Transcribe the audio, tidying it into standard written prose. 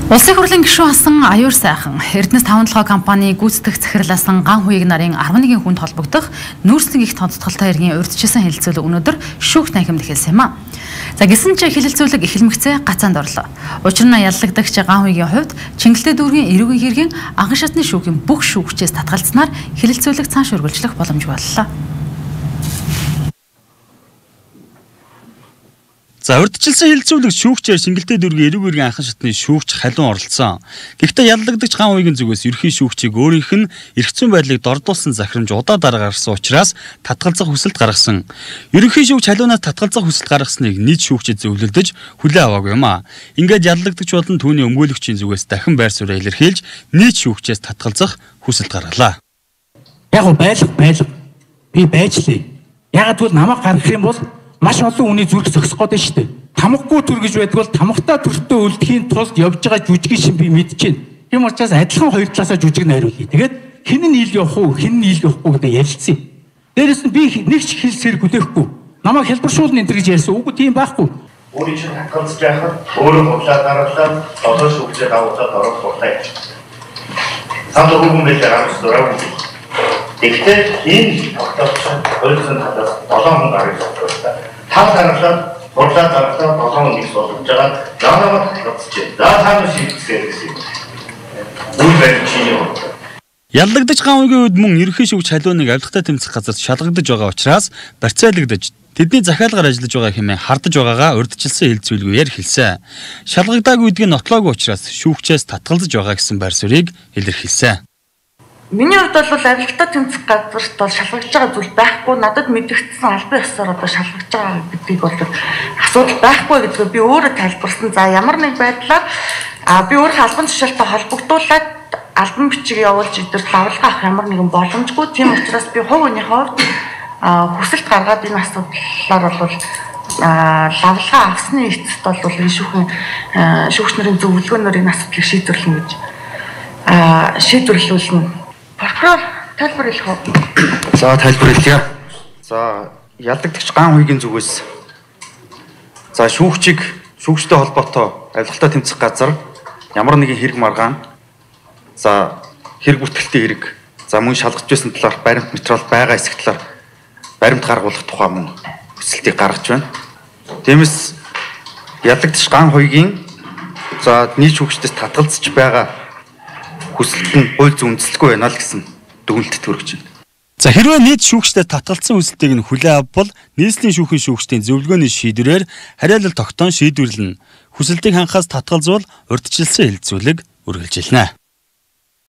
Улсын хурлын гишүүн асан аюур сайхан Эрдэнэс 5-7 компани гүйцэтгэх захирласан Ган Хуйг нарын 11 хүнд холбогдох нүүрсний их тодтолтой иргэн урьдчилсан хэлэлцүүлэг өнөөдөр шүүх танхимд эхэлсэн юм а. За гисэн ч хэлэлцүүлэг эхлэмэгцээ гацаанд орлоо. Учир нь яллагдагч Ган Хуйгийн хувьд Чингэлтэй дүүргийн эрүүгийн хэргийн анхан шатны шүүхийн бүх шүүгчээс татгалцсанаар хэлэлцүүлэг цааш үргэлжлэх боломж боллоо. За урьдчилсан хэлэлцүүлэг шүүгчээр Чингэлтэй дүүргийн эрүүгийн анхан шатны шүүгч халуун оролцсон. Гэхдээ яллагдагч Ган Хуйгийн зүгээс ерхий шүүгчийг өөрийнх нь эрх зүйн байдлыг дордуулсан захирамж удаа дараа гаргасан учраас татгалзах хүсэлт гаргасан. Ерөнхий шүүгч халуунаас татгалзах хүсэлт гаргасныг нийт шүүгчид зөвлөлдөж хүлээн аваагүй юм а. Ингээд яллагдагч болон түүний өмгөөлөгчийн зүгээс дахин байр суурь илэрхийлж нийт шүүгчээс татгалзах хүсэлт гаргалаа. Яг байлга би байжлаа. Ягаад гэвэл намайг гаргах юм бол маш олон хүний зүрх зогсох гээд шүү дээ. Тамгагүй төр гэж байдаг бол тамгатаа төртөө үлдэхийн тулд явж байгаа жүжиг шин би мэдчихээн. Тийм учраас адилхан хоёр талаасаа жүжиг найруулъя. Тэгээд хэн нь ил явах уу, хэн нь ил явахгүй гэдэг ярилцъя. Дээрээс нь би нэг ч хэл сэр хүлээхгүй. Намайг хэлбэршүүлнэ энэ гэж ярьсан. Үгүй тийм байхгүй. Өөрийн чинь хатгалзаж яхад өөрөө худлаа дараалал одоо шүүгчээ давуулаад орох болтой. Санд хөвгөн байлаа гарч дураагүй. Тэгэхдээ энэ тогтоолцоо 200 талаас 7 хүн гарыг тогтоолсон. Тав дараалал худлаа дараалал 7 хүн их болгож байгаа. Наанаа тогтоолцож. За цаана шийдчихээ гэсэн юм. Үйл баримт чинь юу? Яллагдагч Ган Хуйгийн үед мөн ерөнхий шүүгч халууныг авилгатай тэмцэх газарт шалгагдаж байгаа учраас барьцаалагдаж тэдний захиалгаар ажиллаж байгаа хэмээн хардаж байгаагаа урьдчилсан хэлэлцүүлгээр хэлсэн. Шалгагдаагүй гэдгийг нотлоогүй учраас шүүгчээс татгалзаж байгаа гэсэн байр суурийг илэрхийлсэн. Миний хувьд бол авилгатай тэмцэх газарт бол шалгаж байгаа зүйл байхгүй. Надад мэдэгдсэн албан ёсоор одоо шалгаж байгаа гэдгийг бол асуудал байхгүй гэдгийг би өөрөө тайлбарсан. За ямар нэг байдлаар би өөрөө албан тушаалтай холбогдуулаад албан бичиг явуулж идэрт авилга авах ямар нэгэн боломжгүй. Тийм учраас би хувь хүний хувьд хүсэлт гаргаад энэ асуудлаар бол лавлага авсны эцэст бол энэ шүүгч нарын зөвлөгөөнөөр энэ асуудлыг шийдвэрлэнэ гэж шийдвэрлүүлнэ. Прокурор тайлбар хэлэх үү? За тайлбар хэлье. За яллагдагч Ган Хуйгийн зүгээс за шүүгчтэй холбоотой авилгатай тэмцэх газар ямар нэгэн хэрэг маргаан за хэрэг бүтгэлтэй хэрэг за мөн шалгаж байсан талаар баримт материал байгаа эсэх талаар баримт гаргуулах тухай мөн хүсэлтийг гаргаж байна. Тиймээс яллагдагч Ган Хуйгийн за нийт шүүгчдээс татгалзаж байгаа хүсэлт нь хууль зүйн үндэслэхгүй байна л гэсэн дүгнэлтэд хүрэж байна. За хэрвээ нийт шүүгчдээ татгалзсан хүсэлтийг нь хүлээн авбал нийслэлийн шүүхийн шүүгчдийн зөвлөгөөний шийдвэрээр хариалал тогтоон шийдвэрлэнэ. Хүсэлтийг хангахаас татгалзвал урьдчилсан хэлэлцүүлэг үргэлжилнэ.